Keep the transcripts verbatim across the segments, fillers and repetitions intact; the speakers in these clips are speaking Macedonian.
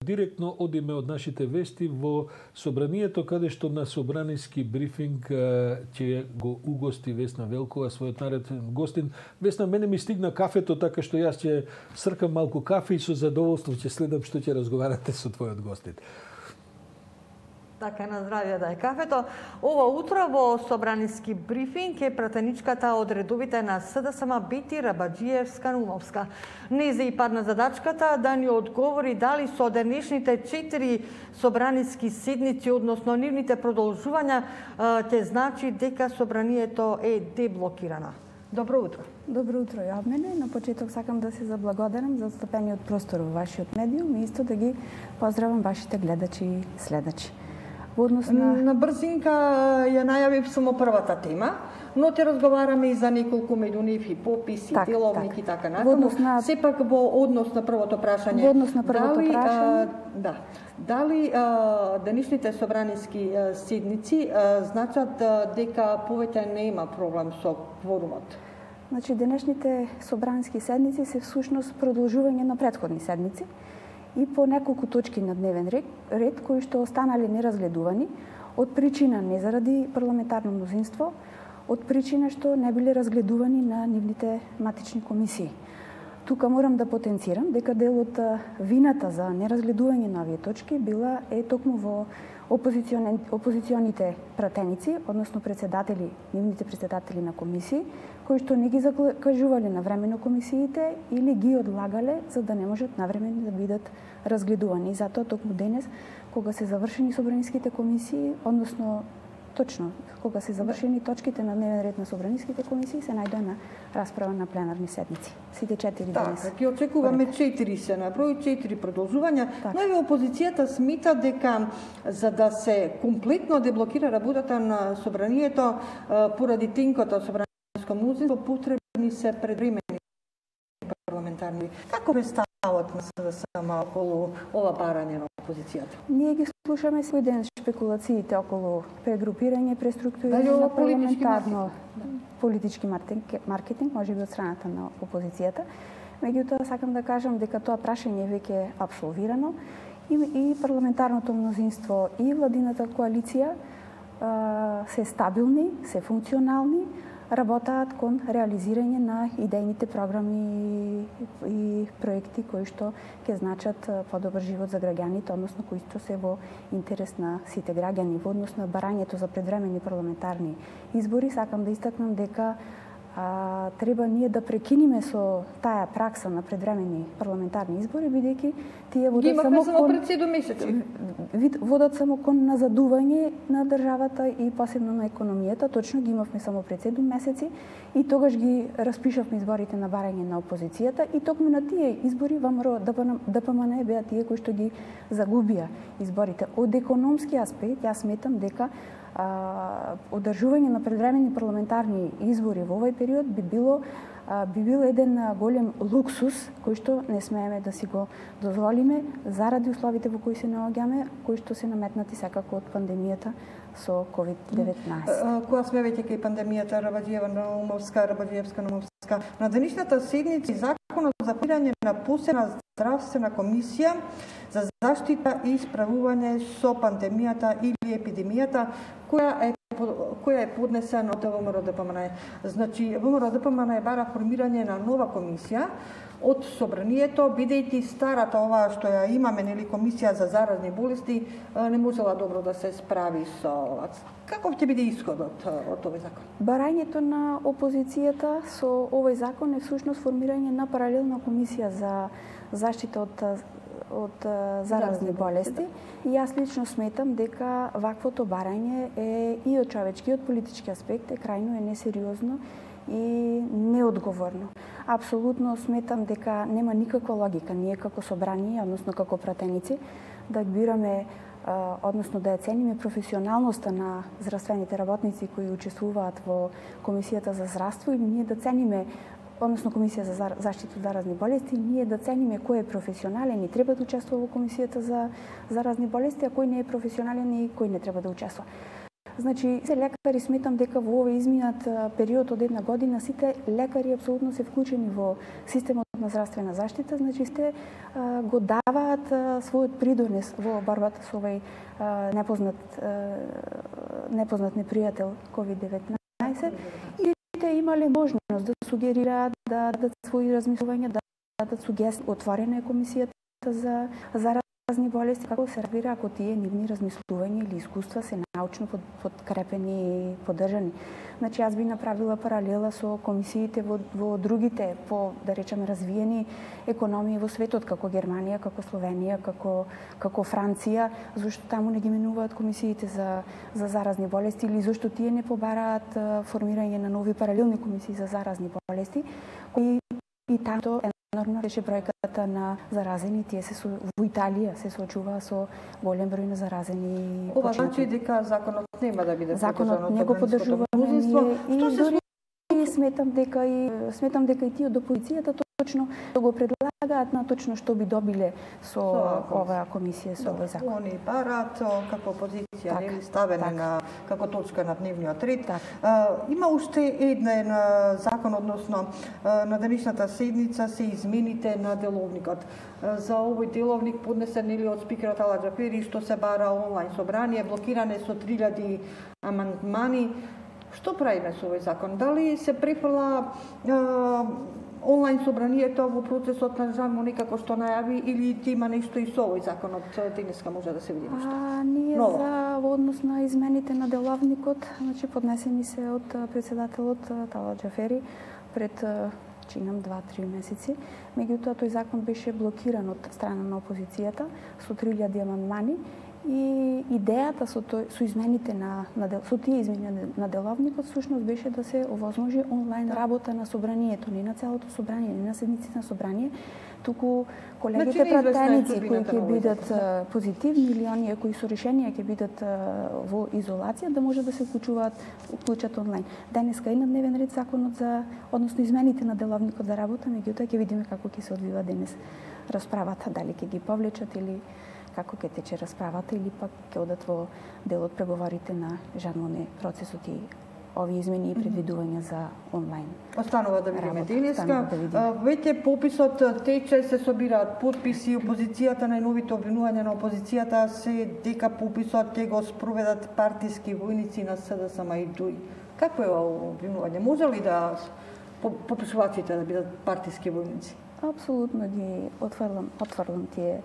Директно одиме од нашите вести во собранието, каде што на собраниски брифинг ќе го угости Весна Велкова, својот нареден гостин. Весна, мене ми стигна кафето, така што јас ќе сркам малку кафе и со задоволство ќе следам што ќе разговарате со твојот гостин. Така, на здравје да е кафето. Ова утро во собраниски брифинг е пратеничката од редовите на СДСМ Бети Рабаџиевска-Наумовска. Незе и падна задачката да ни одговори дали со денешните четири собраниски седници, односно нивните продолжувања, ќе значи дека собранието е деблокирано. Добро утро. Добро утро, Јовмене. На почеток сакам да се заблагодарам за отстапениот простор во вашиот медиум и исто да ги поздравам вашите гледачи и следачи. Во однос на... на брзинка ја најавив само првата тема, но те разговараме и за неколку меѓу нив и пописи, так, деловник так. И така натаму. На... Сепак во однос на првото прашање. Во однос на првото дали, прашање. А, да. Дали а, денешните собраниски а, седници а, значат а, дека повеќе не има проблем со кворумот? Значи, денешните собраниски седници се всушност продолжување на претходни седници и по неколку точки на дневен ред, ред кои што останале неразгледувани, од причина не заради парламентарно мнозинство, од причина што не биле разгледувани на нивните матични комисии. Тука морам да потенцирам дека дел од вината за неразгледување на овие точки била е токму во опозиционите пратеници, односно председатели, нивните председатели на комисии, кои што не ги закажувале навремено комисиите или ги одлагале за да не можат навремено да бидат разгледувани. И затоа токму денес, кога се завршени собраниските комисии, односно точно кога се завршени точките на дневен ред на собраниските комисии, се најде на расправа на пленарни седници. Сите четири так, денес. Така, ќе очекуваме четири се наброи, четири продолжувања, так. Но и опозицијата смита дека за да се комплетно деблокира работата на собранието поради тенкото собраниско мнозинство, потребни се предвремени парламентарни. Како е ставот на СДСМ околу ова барање на опозицијата? Ние ги слушаме секој ден шпекулациите околу прегрупирање, преструктурирање на парламентарно политички маркетинг, може би од страната на опозицијата. Меѓутоа, сакам да кажам дека тоа прашање веќе е апсолвирано и, и парламентарното мнозинство и владината коалиција а, се стабилни, се функционални, работаат кон реализирање на идејните програми и проекти кои што ќе значат подобар живот за граѓаните, односно кои што се во интерес на сите граѓани. Во однос на барањето за предвремени парламентарни избори, сакам да истакнам дека а, треба ние да прекиниме со таа пракса на предвремени парламентарни избори, бидејќи тие водат само само пред седум месеци. Водат само кон назадување на државата и посебно на економијата. Точно ги имавме само пред седум месеци и тогаш ги распишавме изборите на барање на опозицијата и токму на тие избори ВМРО ДПМН беа тие кои што ги загубија изборите. Од економски аспект, јас сметам дека а, одржување на предвремени парламентарни избори во овој период би било би бил еден голем луксус кој што не смееме да си го дозволиме заради условите во кои се наоѓаме, кои што се наметнати секако од пандемијата со ковид деветнаесет. Кога сме веќе кај пандемијата, Рабаџиева-Наумовска, Рабаџиевска-Наумовска, на денешната седница законот за формирање на посебна здравствена комисија за заштита и справување со пандемијата или епидемијата, која е која е поднесена од ВМРО ДПМН. Значи, ВМРО ДПМН бара формирање на нова комисија од собранието, бидејќи старата оваа што ја имаме, нели, комисија за заразни болести, не можела добро да се справи со ова. Каков ќе биде исходот од овој закон? Барањето на опозицијата со овој закон е всушност формирање на паралелна комисија за заштита од од заразни болести. И јас лично сметам дека ваквото барање е и од човечки и од политички аспект е крајно е несериозно и неодговорно. Апсолутно сметам дека нема никаква логика ние како собрание, односно како пратеници, да бираме, односно да ја цениме професионалноста на здравствените работници кои учествуваат во Комисијата за здравство или ние да цениме односно Комисија за заштита од заразни болести, ние да цениме кој е професионален и треба да учествува во Комисијата за заразни болести, а кој не е професионален и кој не треба да учествува. Значи, се лекари сметам дека во овој изминат период од една година сите лекари апсолутно се вклучени во системот на здравствена заштита, значи сте а, го даваат а, својот придонес во борбата со овој а, непознат а, непознат непријател ковид деветнаесет и те имале можност да сугерираат, да дадат своји размислувања, да дадат сугестии. Отворена е комисијата за заразни болести, како се разбира ако тие нивни размислувања или искуства се научно подкрепени и поддржани. Значи, јас би направила паралела со комисиите во, во другите, по, да речеме, развиени економии во светот, како Германија, како Словенија, како, како Франција, зашто таму не ги менуваат комисиите за, за заразни болести или зашто тие не побараат формирање на нови паралелни комисии за заразни болести, кои и таму енормно беше бројката на заразени, тие се со, во Италија се соочува со голем број на заразени. Ова значи дека законот нема да биде законот не го поддржуваме и дори сметам дека и сметам дека и тие од опозицијата точно да го предлагаат на точно што би добиле со, со оваа комисија со овој закон. Они барат како опозиција так, нели ставене так. на како точка на дневниот ред. Так. А, има уште еден закон, односно на денешната седница се измените на деловникот. За овој деловник поднесен или од спикерот Тала Џафери што се бара онлайн собрание, блокиране со три илјади амандмани. Што правиме со овој закон? Дали се префрла онлайн собранието во процесот на Жан некако што најави или ти има нешто и со овој законот денеска може да се види нешто? А, ние Ново. за во однос на измените на деловникот, значи поднесени се од претседателот Тала Џафери пред чинам два-три месеци. Меѓутоа тој закон беше блокиран од страна на опозицијата со три илјади амандмани. И идејата со тој со измените на, на со тие измени на деловникот всушност беше да се овозможи онлайн работа на собранието, не на целото собрание, не на седниците на собрание, туку колегите значи, пратеници кои ќе бидат позитивни или оние кои со решенија ќе бидат во изолација да може да се вклучуваат вклучат онлайн. Денеска е на дневен ред законот за односно измените на деловникот за работа, меѓутоа ќе видиме како ќе се одвива денес расправата, дали ќе ги повлечат или како ќе тече расправата или пак ќе одат во дел од преговорите на Жан Моне процесот и овие измени и предвидувања за онлайн. Останува да видиме денеска. Да Веќе пописот тече, се собираат потписи, опозицијата, најновите обвинувања на опозицијата се дека пописот ќе го спроведат партиски војници на СДСМ и ДУИ. Какво е ова обвинување? Може ли да пописувачите да бидат партиски војници? Апсолутно ги отфрлам, отфрлам тие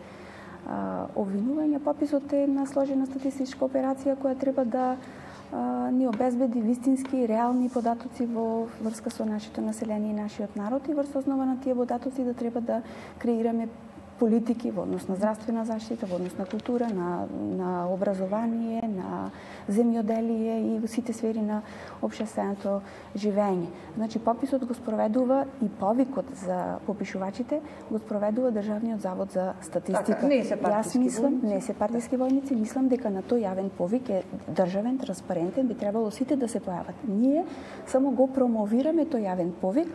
обвинувања. Пописот е една сложена статистичка операција која треба да а, ни обезбеди вистински и реални податоци во врска со нашето население и нашиот народ и врз основа на тие податоци да треба да креираме политики во однос на здравствена заштита, во однос на култура, на, на образование, на земјоделие и во сите сфери на општественото живење. Значи, пописот го спроведува и повикот за попишувачите го спроведува Државниот завод за статистика. Така, не се партиски Јас мислам, војници. не се партиски војници, мислам дека на тој јавен повик е државен, транспарентен, би требало сите да се појават. Ние само го промовираме тој јавен повик,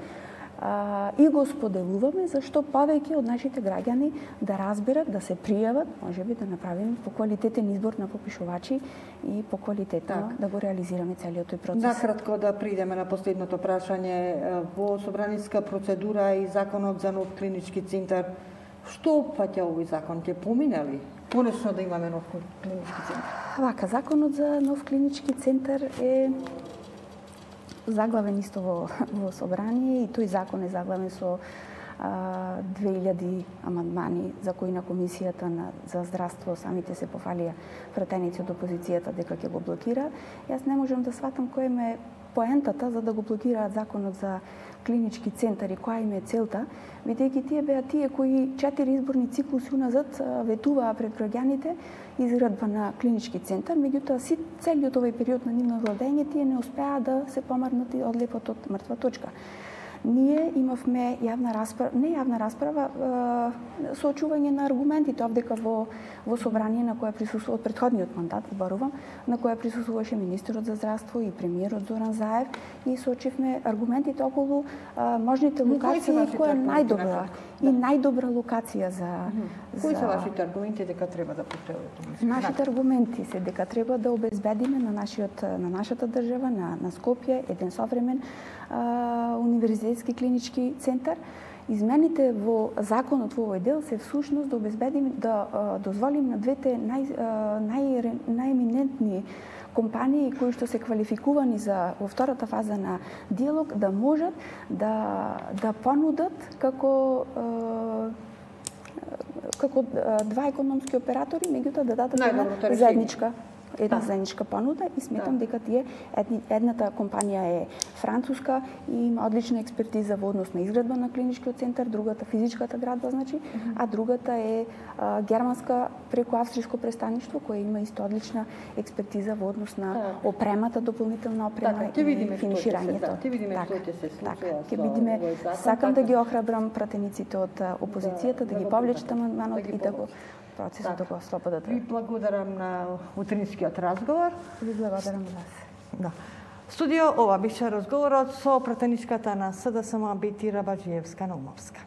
Uh, и го споделуваме зашто повеќе од нашите граѓани да разберат, да се пријават, можеби да направиме поквалитетен избор на попишувачи и поквалитетно так. да го реализираме целиот тој процес. Накратко да придеме на последното прашање. Во собраниска процедура и законот за нов клинички центар, што опфаќа овој закон? Ќе помине ли конечно да имаме нов клинички центар? Вака, законот за нов клинички центар е заглавен исто во, во собрание и тој закон е заглавен со а, две илјади амандмани за кои на комисијата на, за здравство самите се пофалија пратеници од опозицијата дека ќе го блокира. Јас не можам да сватам која им е поентата за да го блокираат законот за клинички центар и која им е целта, бидејќи тие беа тие кои четири изборни циклуси уназад ветуваа пред граѓаните изградба на клинички центар, меѓутоа си целиот овој период на нивно владење тие не успеа да се помарнат и одлепат од мртва точка. Ние имавме јавна расправа, не јавна расправа, соочување на аргументите овдека во во собрание на кое присуствува од претходниот мандат, зборувам, на кое присуствуваше министерот за здравство и премиерот Зоран Заев и соочивме аргументите околу а, можните локации која е најдобра и најдобра локација за Кои се вашите аргументи дека треба да потребувате? Нашите аргументи се дека треба да обезбедиме на нашиот на нашата држава, на на Скопје еден современ а, универзитетски клинички центар. Измените во законот во овој дел се всушност да обезбедиме да а, дозволим на двете нај нај најеминентни компании кои што се квалификувани за во втората фаза на диалог да можат да да понудат како а, како два економски оператори, меѓутоа да дадат една заедничка една да. заедничка понуда и сметам да. дека тие едни, едната компанија е француска и има одлична експертиза во однос на изградба на клиничкиот центар, другата физичката градба, значи, mm -hmm. а другата е а, германска преку австријско престаништво која има исто одлична експертиза во однос на да. опремата, дополнителна опрема така, и финиширањето. Да, ти видиме што ќе се случува. Ќе видиме, сакам да ги охрабрам пратениците од опозицијата да, да, да ги повлечат амандманот да и да го процесот да го ослободат. Ви благодарам на утринскиот разговор. Ви благодарам вас. Да. Студио, ова беше разговорот со пратеничката на СДСМ Бети Рабаџиевска-Наумовска.